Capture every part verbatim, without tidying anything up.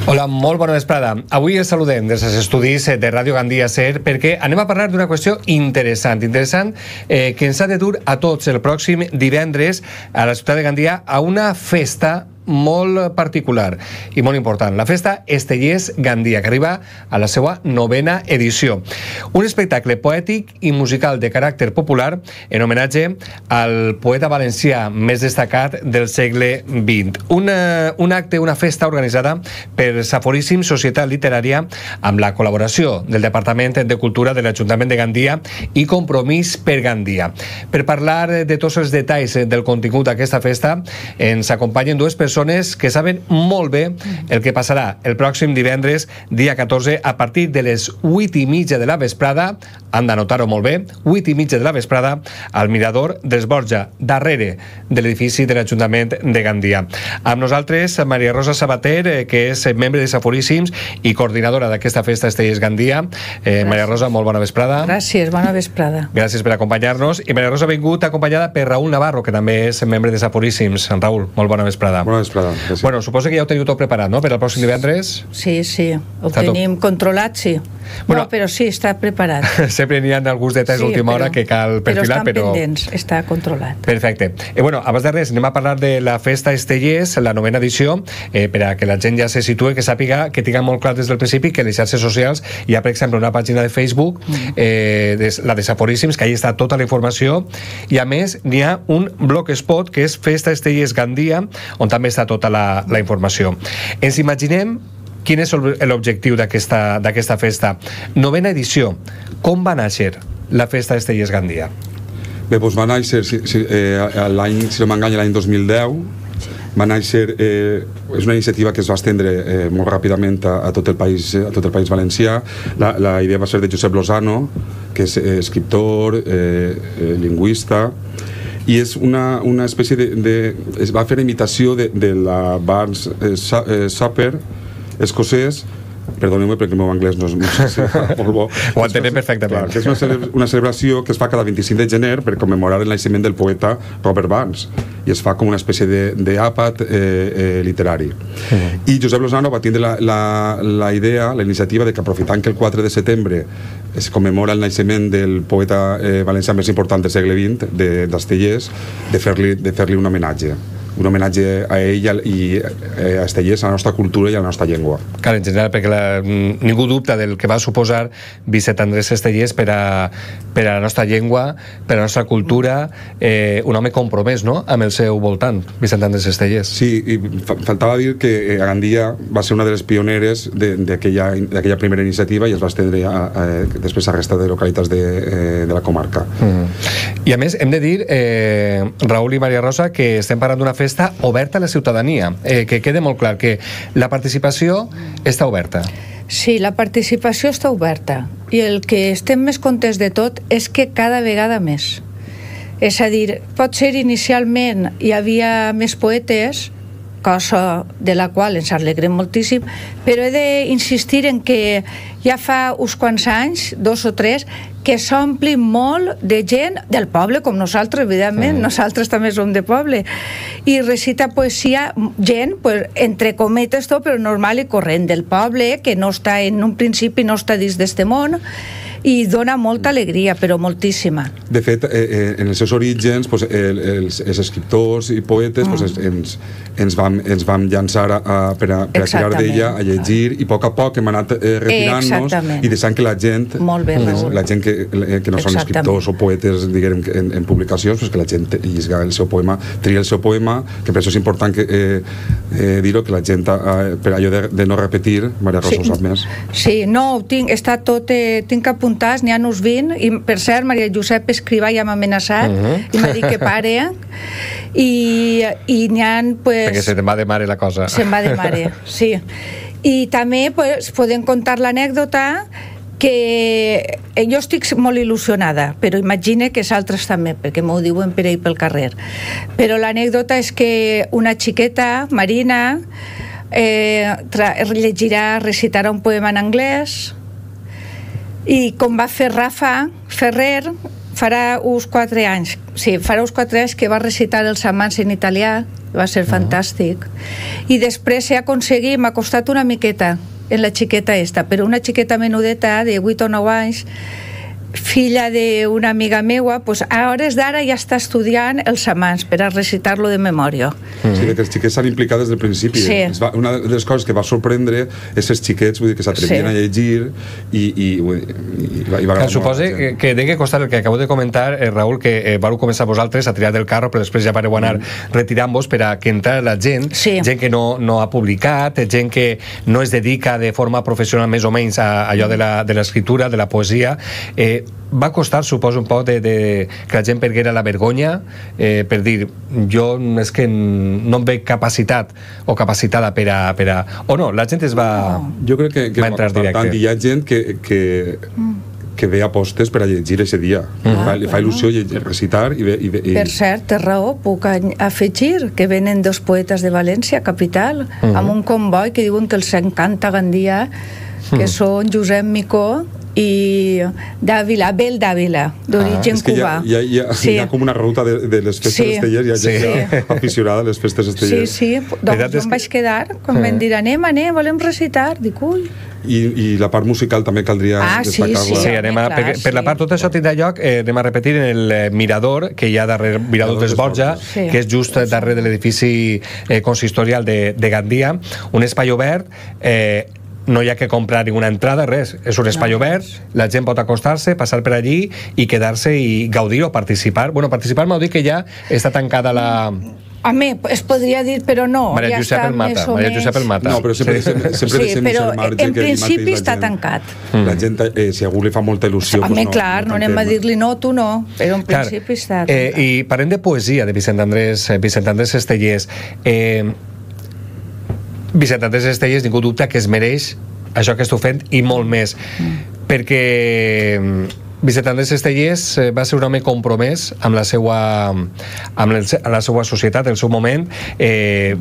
Hola, molt bona vesprada. Avui els saludem des dels estudis de Ràdio Gandia Ser perquè anem a parlar d'una qüestió interessant, interessant eh, que ens ha de dur a tots el pròxim divendres a la ciutat de Gandia a una festa molt particular i molt important, la festa Estellers Gandia, que arriba a la seva novena edició. Un espectacle poètic i musical de caràcter popular en homenatge al poeta valencià més destacat del segle vint. Una, un acte, una festa organitzada per Saforíssim Societat Literària amb la col·laboració del Departament de Cultura de l'Ajuntament de Gandia i Compromís per Gandia. Per parlar de tots els detalls del contingut d'aquesta festa ens acompanyen dues persones que saben molt bé el que passarà el pròxim divendres, dia catorze, a partir de les vuit i mitja de la vesprada, han d'anotar-ho molt bé, vuit i mitja de la vesprada, al Mirador dels Borja, darrere de l'edifici de l'Ajuntament de Gandia. Amb nosaltres, Maria Rosa Sabater, que és membre de Saforíssims i coordinadora d'aquesta festa Estellers Gandia. Eh, Maria Rosa, molt bona vesprada. Gràcies, bona vesprada. Gràcies per acompanyar-nos. I Maria Rosa ha vingut acompanyada per Raúl Navarro, que també és membre de Saforíssims. Raúl, molt bona vesprada. Bona vesprada. Gràcies. Bueno, suposo que ja ho teniu tot preparat, no?, per al pròxim divendres. Sí, sí, ho Està tenim tot controlat, sí. Bueno, no, però sí, està preparat. Sempre n'hi ha alguns detalls sí, d'última hora que cal perfilar, però... Però estan pendents, està controlat. Perfecte. Eh, bueno, abans de res, anem a parlar de la festa Estellers, la novena edició, eh, per a que la gent ja se situe, que sàpiga, que tinga molt clar des del principi que les xarxes socials hi ha, per exemple, una pàgina de Facebook, eh, de, la de Saforíssims, que ahí està tota la informació, i a més n'hi ha un blogspot que és Festa Estellers Gandia, on també està tota la, la informació. Ens imaginem quin és l'objectiu d'aquesta d'aquesta festa. Novena edició. Com va néixer la festa Estellers Gandia? Bé, doncs va néixer, si, si, eh, l'any, si no m'enganya, l'any dos mil deu. Va néixer, eh, és una iniciativa que es va estendre eh, molt ràpidament a, a, tot el país, a tot el país valencià. La, la idea va ser de Josep Lozano, que és eh, escriptor, eh, eh, lingüista, i és una, una espècie de, de... es va fer imitació de, de la Barnes eh, eh, Supper escocès. Perdoneu-me perquè el meu anglès no és molt bo. Ho entenem perfectament. Clar, que és una, cele una celebració que es fa cada vint-i-cinc de gener per commemorar el naixement del poeta Robert Burns, i es fa com una espècie d'àpat eh, eh, literari. Uh-huh. I Josep Lozano va tindre la, la, la idea, la iniciativa de que, aprofitant que el quatre de setembre es commemora el naixement del poeta eh, valencià més important del segle vint, d'Estellers, de fer-li de fer-li un homenatge. Un homenatge a ell i a Estellers, a la nostra cultura i a la nostra llengua. Clar, en general, perquè la, ningú dubta del que va suposar Vicent Andrés Estellers per a, per a la nostra llengua, per a la nostra cultura, eh, un home compromès, no?, amb el seu voltant, Vicent Andrés Estellers. Sí, i fa faltava dir que a Gandia va ser una de les pioneres d'aquella primera iniciativa i es va estendre a, a, després a resta de localitats de, eh, de la comarca. Mm. I a més, hem de dir, eh, Raúl i Maria Rosa, que estem parlant d'una festa festa oberta a la ciutadania, eh, que quede molt clar que la participació està oberta. Sí, la participació està oberta i el que estem més contents de tot és que cada vegada més. És a dir, pot ser inicialment hi havia més poetes, cosa de la qual ens alegrem moltíssim, però he d'insistir en que ja fa uns quants anys, dos o tres, que s'ompli molt de gent del poble, com nosaltres, evidentment, mm. nosaltres també som de poble, i recita poesia gent, pues, entre cometes tot, però normal i corrent del poble, que no està en un principi, no està dins d'este món, i dona molta alegria, però moltíssima. De fet, eh, en els seus orígens, pues, el, els, els escriptors i poetes, mm. pues, ens, ens, vam, ens vam llançar a, a, per a, per a tirar d'ella, a llegir, i a poc a poc hem anat eh, retirant-nos i deixant que la gent, bé, les, la gent que, que no són escriptors o poetes, diguem, en, en publicacions, pues, que la gent llisga el seu poema, tria el seu poema, que per això és important que, eh, eh, dir-ho, que la gent, eh, per allò de, de no repetir, Maria Rosa sí. ho sap més. Sí, no, tinc, està tot, eh, tinc apuntat, n'hi ha uns vint, i per cert, Maria Josep Escrivà ja m'ha amenaçat, uh-huh. i m'ha dit que pare, i, i n'hi ha, pues... Perquè se te'n va de mare la cosa. Se'n va de mare, sí. I també, pues, podem contar l'anècdota que jo estic molt il·lusionada, però imagine que els altres també, perquè m'ho diuen per ahí pel carrer. Però l'anècdota és que una xiqueta, Marina, eh, llegirà, recitarà un poema en anglès, i com va fer Rafa Ferrer, farà uns quatre anys, sí, farà uns quatre anys que va recitar els amants en italià, va ser fantàstic. I després he aconseguit, m'ha costat una miqueta en la xiqueta esta, però una xiqueta menudeta de vuit o nou anys, filla d'una amiga meua, pues a hores d'ara ja està estudiant els amants per a recitar-lo de memòria. Sí, que els xiquets s'han implicat des del principi. Sí. Una de les coses que va sorprendre és els xiquets, vull dir, que s'atrevien Sí. a llegir i, i, i, va, i va agradar Suposa molt a la que, gent. que degui costar el que acabo de comentar, eh, Raül, que eh, vau començar vosaltres a tirar del carro, però després ja vareu anar retirant-vos per a que entrara la gent, Sí. gent que no, no ha publicat, gent que no es dedica de forma professional més o menys a allò de la- de l'escriptura, de la poesia. Eh, va costar, suposo, un poc de, de, que la gent perguera la vergonya eh, per dir, jo és que no em veig capacitat o capacitada per a... Per a... O no, la gent es va... Jo crec que, que va entrar costar directe. tant, i hi ha gent que, que, que ve a postes per a llegir ese dia. Ah, Fa, li fa bueno. il·lusió llegir, recitar i, ve, i, ve, i Per cert, té raó, puc any- afegir que venen dos poetes de València, capital, amb un comboi que diuen que els encanta Gandia, que són Josep Micó i Dàvila, Abel Dàvila, d'origen és que hi cubà. ha, hi, ha, hi, ha, Sí. hi ha com una ruta de, de les festes Sí. estellers, hi ha gent Sí. ja aficionada a les festes Sí, estellers. sí, veritat doncs jo és em que- vaig quedar, quan em dir, anem, anem, volem recitar, dic, ui. I, i la part musical també caldria Ah, sí, destacar-la. Sí, anem a, clar, per, per la sí. part tot això tindrà lloc, eh, anem a repetir en el eh, mirador que hi ha darrere, mirador dels Borja, Sí. que és just darrere de l'edifici eh, consistorial de, de Gandia, un espai obert, eh, no hi ha que comprar ninguna entrada, res, és un espai No, obert, la gent pot acostar-se, passar per allí i quedar-se i gaudir o participar. Bueno, participar m'ho dit que ja està tancada la... Home, es podria dir, però no, Maria ja Josep està el mata, més o Maria menys... Josep el mata. No, però sempre, sempre, sempre Sí, deixem però el marge en que allí mateix principi la està gent- tancat. La gent, eh, si a algú li fa molta il·lusió... Home, doncs no, clar, no anem a tanquem. dir-li no, tu no, però en Clar, principi està eh, tancat. I parlem de poesia de Vicent Andrés, eh, Vicent Andrés Estellers. Eh, Vicent Andrés Estellers, ningú dubta que es mereix això que esteu fent i molt més. Perquè Vicent Andrés Estellers eh, va ser un home compromès amb la seva, amb el, amb la seva societat, el seu moment, eh,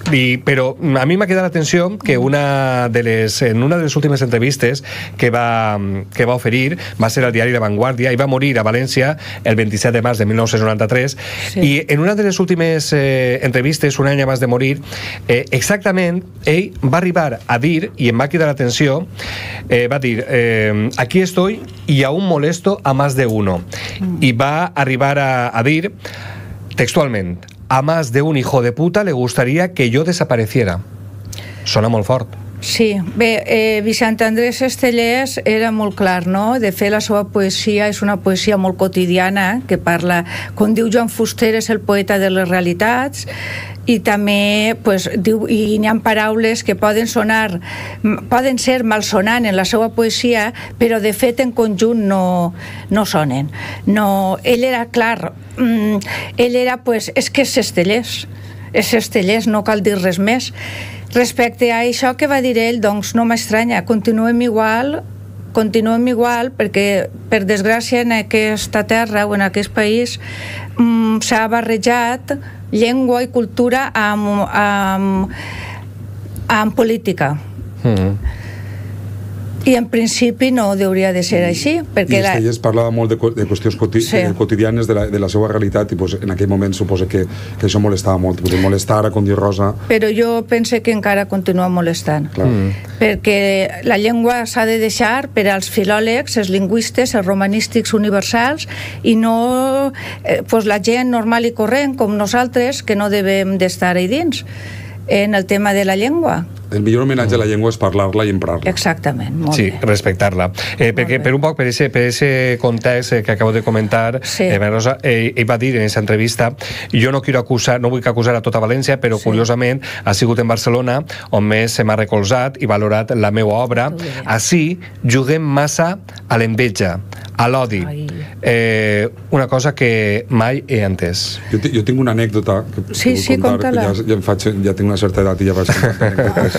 i, però a mi m'ha quedat l'atenció que una de les, en una de les últimes entrevistes que va, que va oferir va ser al diari La Vanguardia i va morir a València el vint-i-set de març de mil nou-cents noranta-tres. Sí. I en una de les últimes eh, entrevistes, un any abans de morir, eh, exactament ell va arribar a dir, i em va cridar l'atenció, eh, va dir, eh, aquí estoy y aún molesto a más de uno. I va arribar a, a dir textualment, a más de un hijo de puta le gustaría que yo desapareciera. Sona molt fort. Sí, bé, eh, Vicent Andrés Estellers era molt clar, no? De fet, la seva poesia és una poesia molt quotidiana, que parla, com diu Joan Fuster, és el poeta de les realitats, i també pues, diu, i n'hi ha paraules que poden sonar, poden ser malsonant en la seva poesia, però de fet en conjunt no, no sonen. No, ell era clar, mm, ell era, pues, és que és Estellers, és Estellers, no cal dir res més. Respecte a això que va dir ell, doncs no m'estranya, continuem igual, continuem igual, perquè per desgràcia en aquesta terra o en aquest país mm, s'ha barrejat llengua i cultura amb, amb, amb política. Mm-hmm. I en principi no hauria de ser així, I perquè la... Estellers parlava molt de, de qüestions quoti Sí. eh, quotidianes de la, de la seva realitat i pues, en aquell moment suposa que, que això molestava molt, pues, molestar a com dir Rosa. Però jo penso que encara continua molestant. Clar. Perquè la llengua s'ha de deixar per als filòlegs, els lingüistes, els romanístics universals, i no eh, pues la gent normal i corrent, com nosaltres, que no devem d'estar ahí dins en el tema de la llengua. El millor homenatge a la llengua és parlar-la i emprar-la. Exactament, molt Sí, bé. respectar-la. Eh, perquè bé. per un poc, per ese, per ese context eh, que acabo de comentar, Sí. eh, Maria Rosa, eh, ell va dir en aquesta entrevista, jo no quiero acusar, no vull que acusar a tota València, però Sí. curiosament ha sigut en Barcelona on més se m'ha recolzat i valorat la meva obra. Molt bé. Així juguem massa a l'enveja, a l'odi. Ai. Eh, una cosa que mai he entès. Jo, jo tinc una anècdota que, Sí, que vull sí, contar, conta-la. que ja, ja, em faig, ja tinc una certa edat i ja vaig contar anècdotes.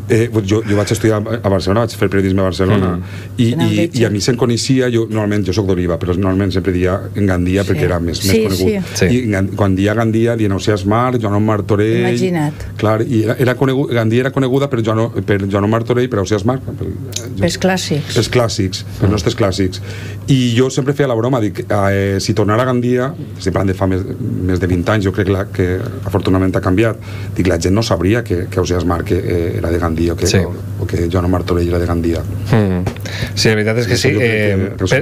Eh, jo, jo vaig estudiar a Barcelona, vaig fer periodisme a Barcelona, mm. i, i, i a mi se'm coneixia, jo normalment, jo soc d'Oliva, però normalment sempre dia en Gandia, sí. perquè era més, sí, més conegut. Sí. I en, quan dia Gandia, dien Ausiàs Marc, Joan Martorell... Imagina't. Clar, i era, era conegut, Gandia era coneguda per Joan, per Joan Martorell, per Ausiàs Marc... Per, els clàssics. Els clàssics, mm. els nostres clàssics. I jo sempre feia la broma, dic, eh, si tornara a Gandia, estic parlant de fa més, més de vint anys, jo crec la, que afortunadament ha canviat, dic, la gent no sabria que, que Ausiàs Marc eh, era de Gandia, o que... Sí. O, o que Joan Martorell era de Gandia. Mm. Sí, la veritat és que sí. Eh, que per,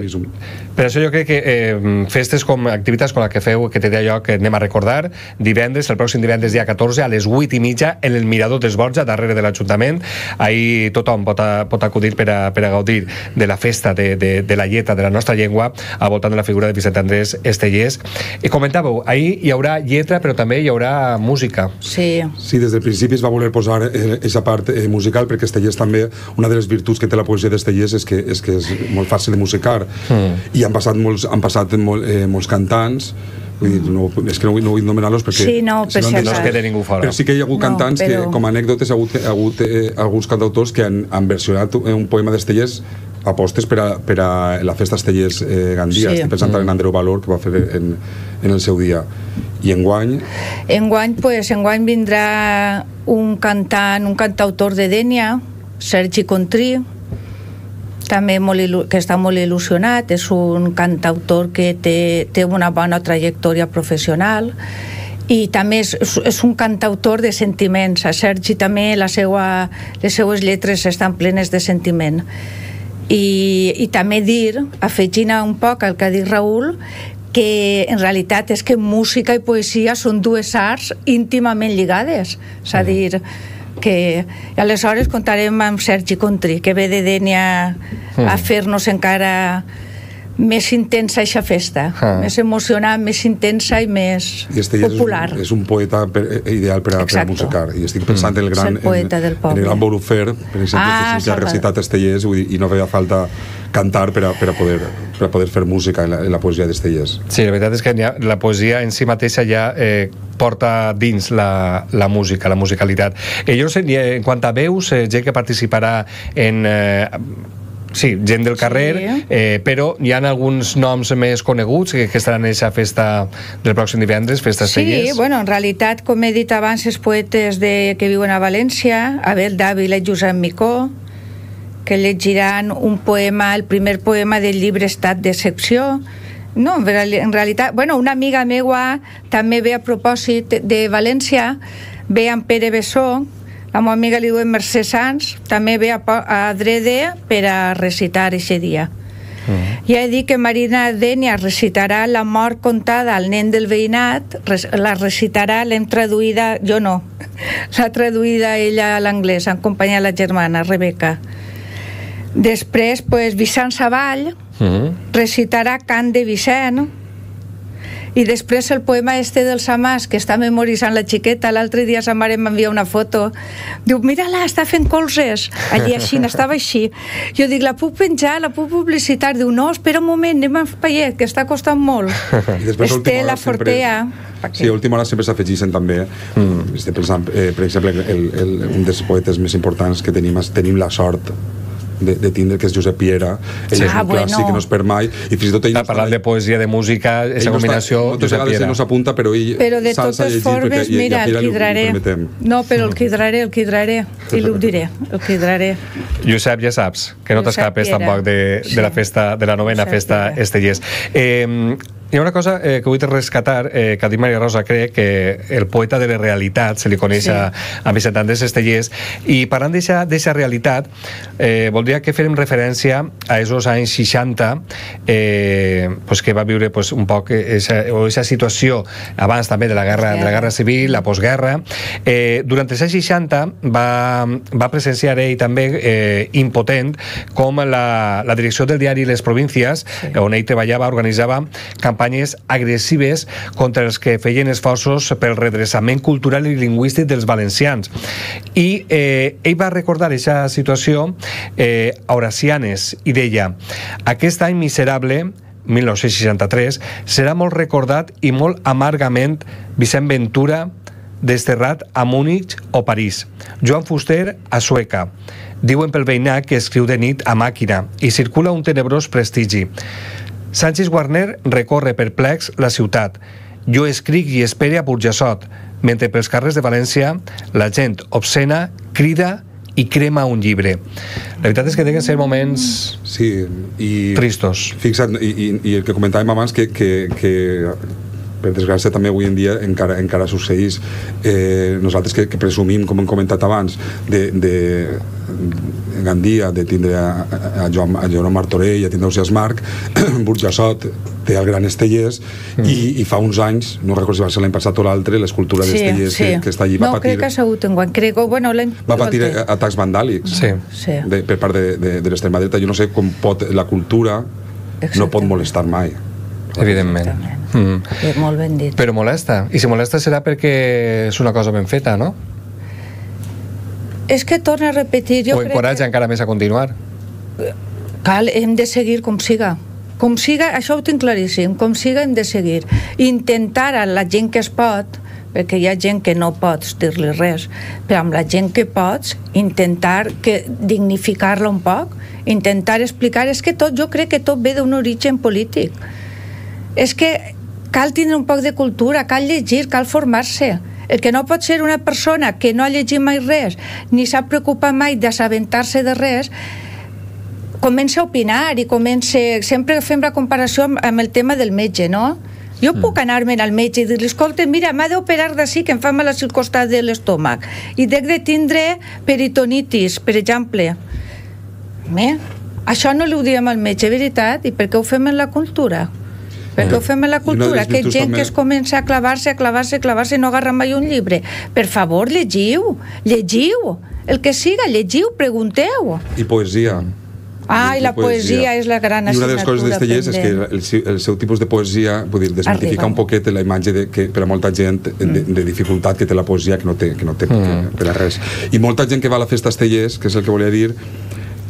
per això jo crec que eh, festes com activitats com la que feu, que té d'allò que anem a recordar, divendres, el pròxim divendres dia catorze, a les vuit i mitja, en el Mirador dels Borja, darrere de l'Ajuntament. Ahir tothom pot, a, pot acudir per a, per a gaudir de la festa de, de, de la lletra de la nostra llengua al voltant de la figura de Vicent Andrés Estellés. I comentàveu, ahir hi haurà lletra, però també hi haurà música. Sí. Sí, des del principi es va voler posar aquesta part eh, musical, perquè Estellés també, una de les virtuts que té la poesia d'Estellés és que és que és molt fàcil de musicar, mm. i han passat molts, han passat molt, eh, molts cantants, vull dir, no, és que no, no vull nomenar-los perquè sí, no, si no, no es queda ningú fora. Però sí que hi ha hagut no, cantants però... que, com a anècdotes, ha hagut, ha hagut eh, alguns cantautors que han, han versionat un poema d'Estellés apostes per a, per a la festa Estellés eh, Gandia. Sí. Estic pensant mm. en Andreu Valor, que va fer en, en el seu dia. I enguany? Enguany, pues, enguany vindrà un cantant, un cantautor de Dénia, Sergi Contrí, també molt, que està molt il·lusionat, és un cantautor que té, té una bona trajectòria professional, i també és, és un cantautor de sentiments. A Sergi també la seva, les seues lletres estan plenes de sentiment. I, i també dir, afegint un poc el que ha dit Raül, que en realitat és que música i poesia són dues arts íntimament lligades, és a dir, que aleshores contarem amb Sergi Contrí, que ve de Dénia a fer-nos encara més intensa aquesta festa, ah. més emocionant, més intensa i més I popular. És un, és un poeta per, ideal per a, per a musicar, i estic pensant mm. en el gran, en, en el gran Borufer, per exemple, ah, que, que ha recitat Estellés, i no feia falta cantar per a, per a, poder, per a poder fer música en la, en la poesia d'Estellés. Sí, la veritat és que ha, la poesia en si mateixa ja eh, porta dins la, la música, la musicalitat. Eh, jo no sé, en quant a veus, eh, gent que participarà en... Eh, sí, gent del carrer, sí. eh, però hi ha alguns noms més coneguts que, que estaran en aquesta festa del pròxim divendres, festa Estellés. Sí, bueno, en realitat, com he dit abans, els poetes de, que viuen a València, Abel Dávila i Josep Micó, que llegiran un poema, el primer poema del llibre Estat d'Excepció. No, en realitat, bueno, una amiga meua també ve a propòsit de València, ve amb Pere Bessó, la meva amiga li diuen Mercè Sans, també ve a, a Drede per a recitar aquest dia. Mm. Ja he dit que Marina Dénia recitarà La mort contada al nen del veïnat, la recitarà, l'hem traduïda, jo no, l'ha traduïda ella a l'anglès, en companyia de la germana, Rebeca. Després, pues, Vicent Savall mm. recitarà Cant de Vicent, i després el poema este del Samàs, que està memoritzant la xiqueta. L'altre dia sa mare m'envia una foto, diu, mira-la, està fent colzes allí així, estava així. Jo dic, la puc penjar, la puc publicitar? Diu, no, espera un moment, anem a Paiet, que està costant molt. Este, la Fortea. Sí, a última hora sempre s'afegeixen també, mm. estic pensant, eh, per exemple, el, el, un dels poetes més importants que tenim, tenim la sort de, de tindre, que és Josep Piera. Ell sí. és un ah, clàssic bueno. que no es perd mai, i fins i tot ell... Està parlant de poesia, de música, aquesta combinació, no Josep Piera. Ell no s'apunta, però ell però de totes formes, mira, el quidraré. No, però el quidraré, el quidraré, i l'ho diré, el quidraré. Josep, ja saps, que no t'escapes tampoc de, de la festa, de la novena Josep festa Piera. Estellés. Eh, hi ha una cosa eh, que vull rescatar, eh, que ha dit Maria Rosa, crec que el poeta de la realitat se li coneix sí. a, a Vicent Andrés Estellés, i parlant d'aquesta realitat, eh, voldria que fem referència a esos anys seixanta, eh, pues que va viure pues, un poc esa, o esa situació abans també de la guerra, de la guerra civil, la postguerra. Eh, durant els anys seixanta va, va presenciar ell també eh, impotent com la, la direcció del diari Les Províncies, sí. on ell treballava, organitzava campanyes agressives contra els que feien esforços pel redreçament cultural i lingüístic dels valencians. I eh, ell va recordar aquesta situació eh, a Horacianes i deia: aquest any miserable, mil nou-cents seixanta-tres, serà molt recordat i molt amargament Vicent Ventura, desterrat a Múnich o París. Joan Fuster a Sueca. Diuen pel veïnat que escriu de nit a màquina i circula un tenebrós prestigi. Sánchez Guarner recorre perplex la ciutat. Jo escric i espere a Burjassot, mentre pels carrers de València la gent obscena crida i crema un llibre. La veritat és que tenen que ser moments sí, i, tristos. Fixa't, i, i, i el que comentàvem abans, que, que, que per desgràcia també avui en dia encara, encara succeeix. Eh, nosaltres que, que presumim, com hem comentat abans, de, de Gandia, de tindre a, a, Joan, a Joan Martorell, a tindre Ausiàs Marc, Burjassot té el gran Estellers, mm. i, i fa uns anys, no recordo si va ser l'any passat o l'altre, l'escultura sí, d'Estellers sí. que, que està allí va no, patir... crec que ha sigut enguany, crec, bueno, va patir atacs vandàlics sí. Sí. De, per part de, de, de l'extrema dreta. Jo no sé com pot la cultura Exactament. No pot molestar mai. Evidentment. Mm. Sí, molt ben dit. Però molesta. I si molesta serà perquè és una cosa ben feta, no? És que torna a repetir... Jo o encoratja que... encara més a continuar. Cal, hem de seguir com siga. Com siga, això ho tinc claríssim, com siga hem de seguir. Intentar a la gent que es pot, perquè hi ha gent que no pots dir-li res, però amb la gent que pots, intentar que dignificar-la un poc, intentar explicar... És que tot, jo crec que tot ve d'un origen polític. És que cal tindre un poc de cultura, cal llegir, cal formar-se. El que no pot ser una persona que no ha llegit mai res, ni s'ha preocupat mai d'assabentar-se de res, comença a opinar i comença... Sempre fem la comparació amb, amb el tema del metge, no? Jo mm. puc anar-me'n al metge i dir-li, escolta, mira, m'ha d'operar d'ací que em fa mal al costat de l'estómac i dec de tindre peritonitis, per exemple. Bé, això no li ho diem al metge, veritat? I per què ho fem en la cultura? Perquè ho fem a la cultura, que gent també... que es comença a clavar-se, a clavar-se, a clavar-se i no agarra mai un llibre. Per favor, llegiu, llegiu, el que siga, llegiu, pregunteu. I poesia. Ah, i la poesia, poesia és la gran assignatura. I una de les coses d'Estellers és que el, el seu tipus de poesia, vull dir, desmitificar un poquet la imatge de, que per a molta gent de, de dificultat que té la poesia, que no té, que no té mm. per a res. I molta gent que va a la festa Estellers, que és el que volia dir,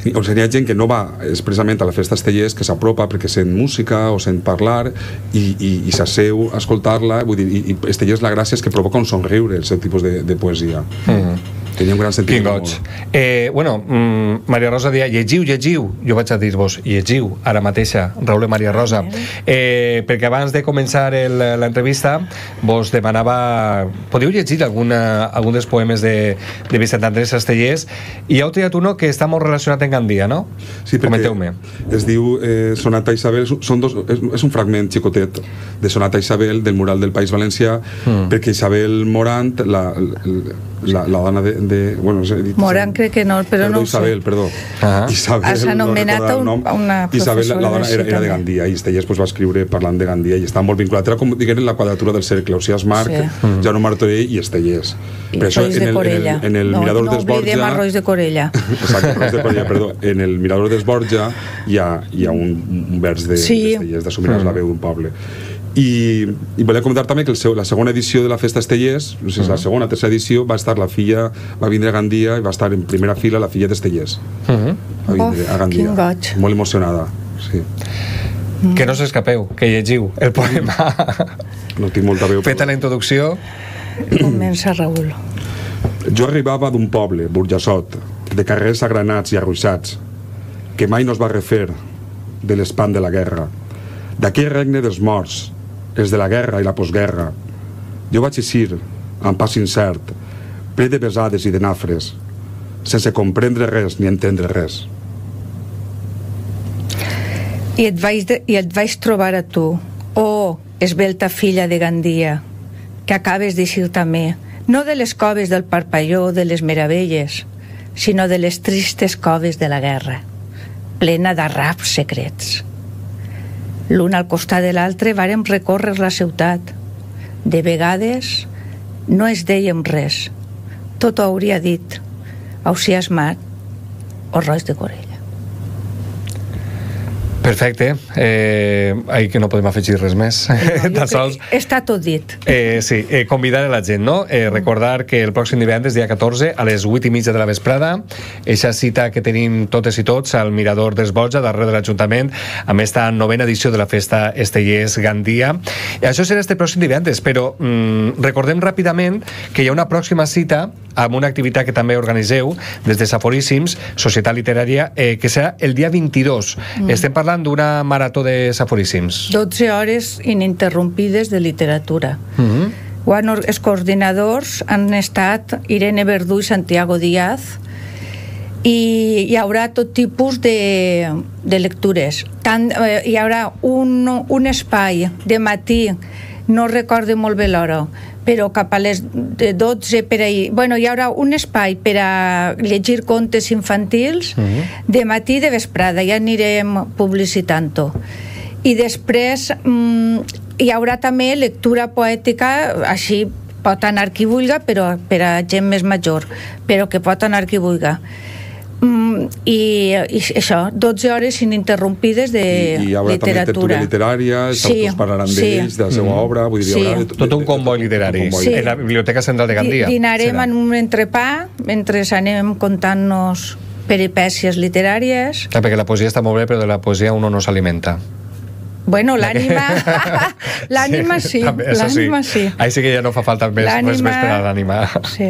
o sigui, hi ha gent que no va expressament a la festa Estellers, que s'apropa perquè sent música o sent parlar i, i, i s'asseu a escoltar-la, vull dir, i, i Estellers la gràcia és que provoca un somriure el seu tipus de, de poesia. Mm. Tenia un gran sentit. Quin goig. Eh, bueno, mm, Maria Rosa deia, llegiu, llegiu. Jo vaig a dir-vos, llegiu, ara mateixa, Raül i Maria Rosa. Eh, perquè abans de començar l'entrevista vos demanava, podeu llegir alguna, algun dels poemes de, de Vicent Andrés Estellers, i heu triat uno que està molt relacionat amb Gandia, no? Sí, perquè Comenteu-me. Es diu eh, Sonata Isabel, són dos, és, és un fragment xicotet de Sonata Isabel del mural del País Valencià, mm. perquè Isabel Morant, la, la, la dona de, de bueno, no sé, Morant crec que no, però perdó, no Isabel, perdó. Ah. Isabel, s'ha anomenat no un, una Isabel, la dona era, era de Gandia, i Estellers pues, va escriure parlant de Gandia i estava molt vinculat, era com diguem la quadratura del cercle, Ausiàs Marc, sí. mm. Jaume Martorell i Estellers. I Rois de Corella. En el, en el no, Mirador no d'Esborja... No oblidem a Rois de Corella. Exacte, Rois de Corella, perdó. En el Mirador d'Esborja hi ha, hi ha un, un vers de, sí. d'Estellers, d'Assumiràs mm. la veu d'un poble. I, i volia comentar també que el seu, la segona edició de la Festa Estellers, no sé si és la segona o tercera edició, va estar la filla, va vindre a Gandia i va estar en primera fila la filla d'Estellers. Uh -huh. Va vindre a Gandia. Quin goig. Molt emocionada, sí. Mm. Que no s'escapeu, que llegiu el poema. No tinc molta veu. Feta la introducció. Comença, Raül. Jo arribava d'un poble, Burjassot, de carrers agranats i arruixats, que mai no es va refer de l'espant de la guerra, d'aquell regne dels morts, els de la guerra i la postguerra. Jo vaig eixir, amb pas incert, ple de besades i de nafres, sense comprendre res ni entendre res. I et vaig, de, i et vaig trobar a tu, oh, esbelta filla de Gandia, que acabes d'eixir també, no de les coves del Parpalló de les meravelles, sinó de les tristes coves de la guerra, plena d'arraps secrets. L'un al costat de l'altre vàrem recórrer la ciutat. De vegades no es dèiem res. Tot ho hauria dit Ausiàs Marc o Rois de Corella. Perfecte. Eh, ahí que no podem afegir res més. No, sols... Està tot dit. Eh, sí, eh, convidar a la gent, no? Eh, recordar que el pròxim divendres, dia catorze, a les vuit i mitja de la vesprada, eixa cita que tenim totes i tots al Mirador d'Esborja, darrere de l'Ajuntament, amb esta novena edició de la Festa Estellers Gandia. I això serà este pròxim divendres, però mm, recordem ràpidament que hi ha una pròxima cita amb una activitat que també organitzeu des de Saforíssims, Societat Literària, eh, que serà el dia vint-i-dos. Mm. Estem parlant d'una marató de Saforíssims. dotze hores ininterrompides de literatura. Mm-hmm. Bueno, els coordinadors han estat Irene Verdú i Santiago Díaz, i hi haurà tot tipus de, de lectures. Tant, eh, hi haurà un, un espai de matí, no recordo molt bé l'hora, però cap a les dotze per ahir. Bueno, hi haurà un espai per a llegir contes infantils uh-huh. de matí i de vesprada, ja anirem publicitant-ho. I després mm, hi haurà també lectura poètica, així pot anar qui vulga, però per a gent més major, però que pot anar qui vulga. Mm, i, i això, dotze hores ininterrompides de I, i hi haurà literatura. També tertúlia literària, els sí, autors parlaran sí. d'ells, de la seva mm. obra, vull dir, sí. hi haurà... Tot un comboi literari, sí. en la Biblioteca Central de Gandia. Dinarem serà. en un entrepà, mentre anem contant-nos peripècies literàries. Ah, perquè la poesia està molt bé, però de la poesia uno no s'alimenta. Bueno, l'ànima l'ànima sí, l'ànima sí. Ahí sí que ja no fa falta més, més, més per a l'ànima. Sí.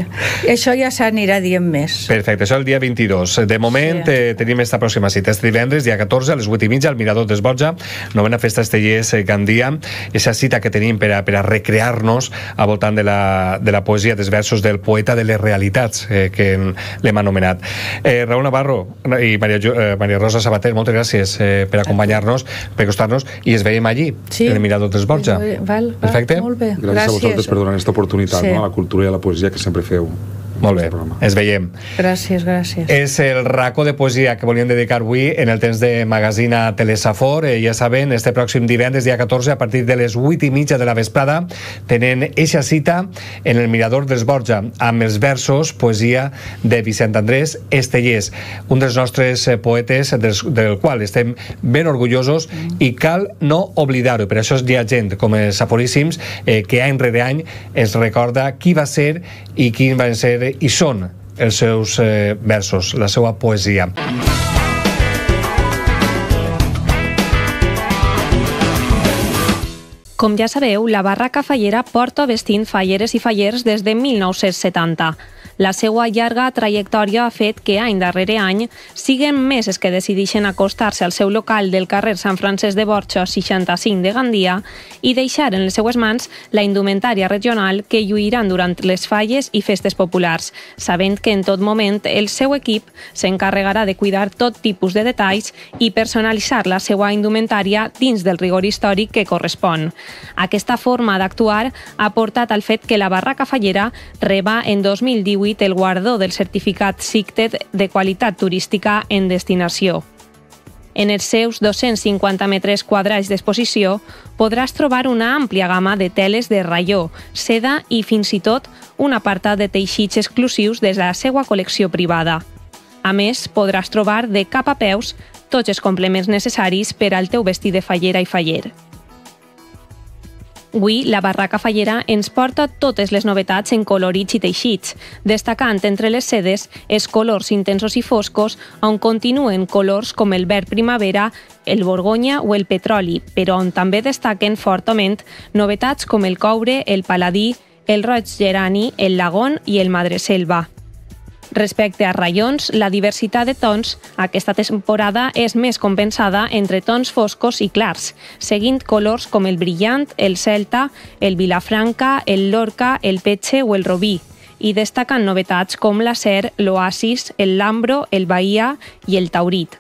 Això ja s'anirà dient més. Perfecte, això el dia vint-i-dos. De moment sí. eh, tenim esta pròxima cita. Este divendres, dia catorze, a les vuit i mitja, al Mirador d'Esborja, novena Festa Estellers Gandia. Esa cita que tenim per a, per a recrear-nos al voltant de la, de la poesia dels versos del poeta de les realitats, eh, que l'hem anomenat. Eh, Raúl Navarro i Maria, eh, Maria Rosa Sabater, moltes gràcies eh, per acompanyar-nos, per costar-nos, i es veiem allí, sí. en el Mirador d'Esborja. Val, val, perfecte? Molt bé. Gràcies, Gràcies a vosaltres per donar aquesta oportunitat, sí. no? a la cultura i a la poesia que sempre feu. Molt bé, ens veiem. Gràcies, gràcies. És el racó de poesia que volíem dedicar avui en el temps de Magazina Telesafor. Eh, ja saben, este pròxim divendres, dia catorze, a partir de les vuit i mitja de la vesprada, tenen eixa cita en el Mirador d'Esborja, amb els versos, poesia de Vicent Andrés Estellers, un dels nostres poetes del, del qual estem ben orgullosos mm. i cal no oblidar-ho. Per això hi ha gent com els Saforíssims eh, que any rere any ens recorda qui va ser i quin van ser i són els seus eh, versos, la seva poesia. Com ja sabeu, la Barraca Fallera porta vestint falleres i fallers des de mil nou-cents setanta. La seva llarga trajectòria ha fet que any darrere any siguen més els que decideixen acostar-se al seu local del carrer Sant Francesc de Borja seixanta-cinc de Gandia i deixar en les seues mans la indumentària regional que lluiran durant les falles i festes populars, sabent que en tot moment el seu equip s'encarregarà de cuidar tot tipus de detalls i personalitzar la seva indumentària dins del rigor històric que correspon. Aquesta forma d'actuar ha portat al fet que la Barraca Fallera reba en dos mil divuit el guardó del certificat SICTED de qualitat turística en destinació. En els seus dos-cents cinquanta metres quadrats d'exposició podràs trobar una àmplia gamma de teles de raió, seda i fins i tot un apartat de teixits exclusius de la seva col·lecció privada. A més, podràs trobar de cap a peus tots els complements necessaris per al teu vestit de fallera i faller. Avui, la Barraca Fallera ens porta totes les novetats en colorits i teixits, destacant entre les sedes els colors intensos i foscos, on continuen colors com el verd primavera, el borgonya o el petroli, però on també destaquen fortament novetats com el coure, el paladí, el roig gerani, el lagon i el madreselva. Respecte a raions, la diversitat de tons aquesta temporada és més compensada entre tons foscos i clars, seguint colors com el brillant, el celta, el vilafranca, el lorca, el petxe o el robí, i destaquen novetats com l'acer, l'oasis, el lambro, el bahia i el taurit.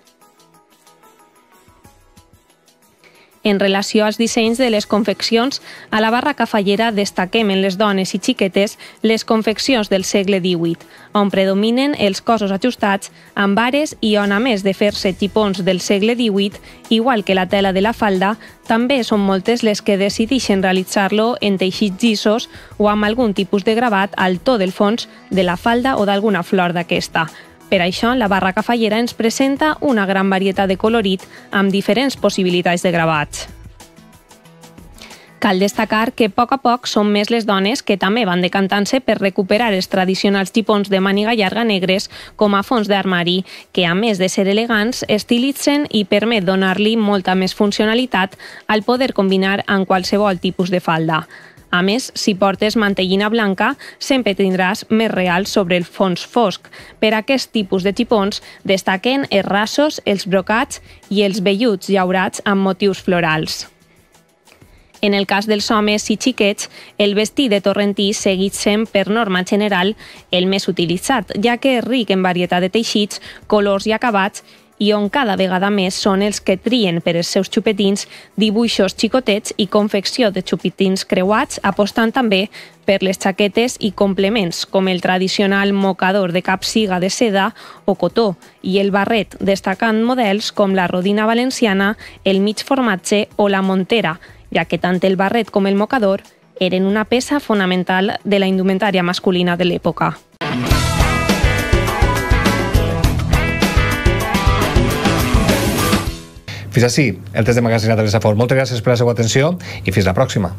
En relació als dissenys de les confeccions, a la Barraca Fallera destaquem en les dones i xiquetes les confeccions del segle divuit, on predominen els cossos ajustats amb ares i on, a més de fer-se xipons del segle divuit, igual que la tela de la falda, també són moltes les que decideixen realitzar-lo en teixits llisos o amb algun tipus de gravat al to del fons de la falda o d'alguna flor d'aquesta. Per això, la barraca fallera ens presenta una gran varietat de colorit amb diferents possibilitats de gravats. Cal destacar que a poc a poc són més les dones que també van decantant-se per recuperar els tradicionals xipons de màniga llarga negres com a fons d'armari, que a més de ser elegants, estilitzen i permet donar-li molta més funcionalitat al poder combinar amb qualsevol tipus de falda. A més, si portes mantellina blanca, sempre tindràs més real sobre el fons fosc. Per aquest tipus de xipons destaquen els rasos, els brocats i els velluts llaurats amb motius florals. En el cas dels homes i xiquets, el vestit de torrentí segueix sent, per norma general, el més utilitzat, ja que és ric en varietat de teixits, colors i acabats, i on cada vegada més són els que trien per als seus xupetins dibuixos xicotets i confecció de xupetins creuats, apostant també per les xaquetes i complements, com el tradicional mocador de capsiga de seda o cotó, i el barret, destacant models com la rodina valenciana, el mig formatge o la montera, ja que tant el barret com el mocador eren una peça fonamental de la indumentària masculina de l'època. Fins així el test de magazinat de l'Esafort. Moltes gràcies per la seva atenció i fins la pròxima.